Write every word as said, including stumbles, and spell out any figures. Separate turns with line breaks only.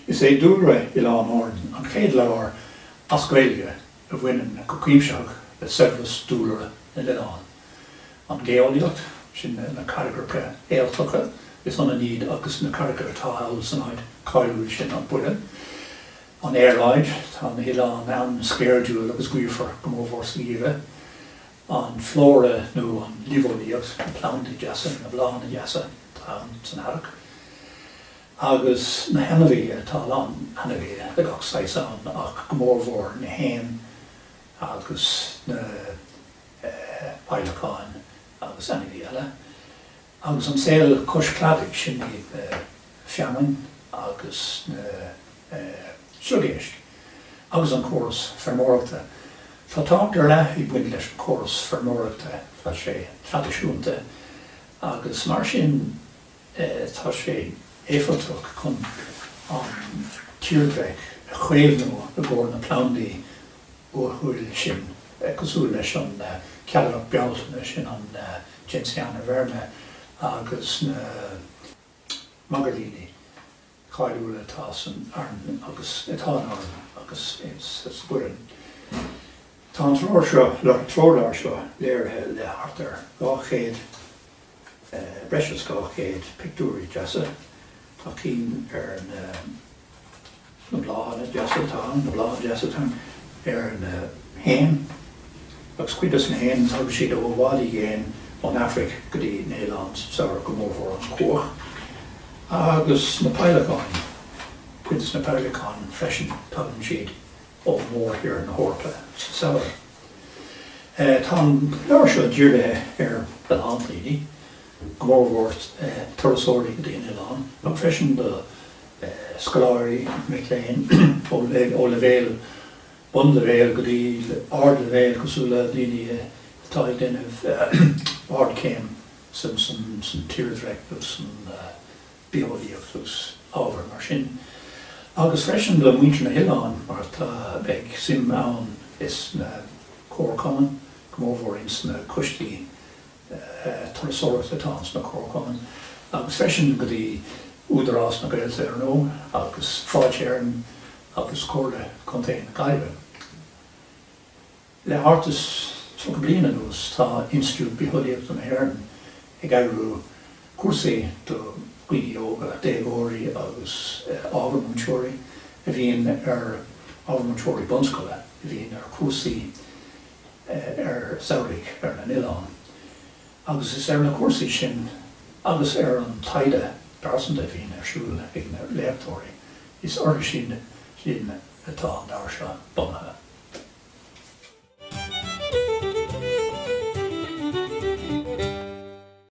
Is é Dúlra Oileáin Árann an chéad leabhar as Gaeilge a bhaineann go cuimsitheach le saibhreas dúlra na n-oileán. An gheolaíocht, sin na carraigreacha éaltacha, is ionann iad agus na carraigreacha atá thall san áit cáiliúil sin, an Bhoireann. An aeráid, tá na hoileáin an-sceirdiúil agus gaofar, go mórmhór sa gheimhreadh. An flóra nó an luibheolaíocht, na plandaí deasa, na bláthanna deasa atá ann san earrach. Agus na hainmhithe, tá a lán ainmhithe de gach saghas ann ach go mórmhór na héin agus na peidhleacáin agus ainmhithe eile. Agus an saol cois cladaigh, sin iad na feamainn agus na sliogéisc. Agus an córas feirmeoireachta. Tá tábhacht ar leith ag baint leis an córas feirmeoireachta, tá sé traidisiúnta agus mar sin tá sé éifeachtach chun an tírdhreach a chaomhnú i gcomhair na plandaí uathúil sin, cosúil leis an Ceallalach Bealtaine, sin an Gentiana verna, agus na magairlíní cáiliúla atá san Arann agus atá in Árainn agus sa Bhoireann. Tá an treoir seo, treoirleabhar seo léirithe le thart ar dhá chéad, breis is dhá chéad pictiúirí deasa. Tá cinn ar na na bláthanna deasa atá ann, na bláthanna deasa atá ann, ar na héin, agus cuid de na héin tagann siad ó i bhfad i gcéin, ón Afraic go dtí na hoileáin sa samhradh, go mórmhór an cuach, agus na peidhleacáin, cuid de na peidhleacáin freisin, tagann siad ó mhórthír na hEorpa sa samhradh. Tá an leabhar seo dírithe ar a lán daoine, go mórmhór turasóirí go dtí an oileán, ach freisin do scoláirí, mic léinn ó leibhéal bunleibhéal go dtí ardleibhéal, cosúil le daoine atá ag déanamh ardchéim san tírdhreach agus san bitheolaíocht agus ábhair mar sin. Agus freisin do mhuintir na hoileáin, mar tá, beidh suim ann is na comharchumainn, go mórmhór ins na coistí turasóireachta atá ins na comharchumainn, agus freisin go dtí Údarás na Gaeltachta ar ndóigh, agus Fáilte Éireann agus Comhairle Contae na Gaillimhe. Le thart is tríocha bliain anuas tá Institiúid Bitheolaíochta na hÉireann ag eagrú cúrsaí do dhaoine óga, déagóirí agus ábhar múinteoirí a bhíonn ar ábhar múinteoirí bunscoile a bhíonn ar chúrsaí ar samhraidh ar na n-oileán. Agus is ar na cúrsaí sin agus ar an taighde pearsanta a bhíonn ar siúl ag na léachtóirí, is orthu sin sin atá an leabhar seo bunaithe.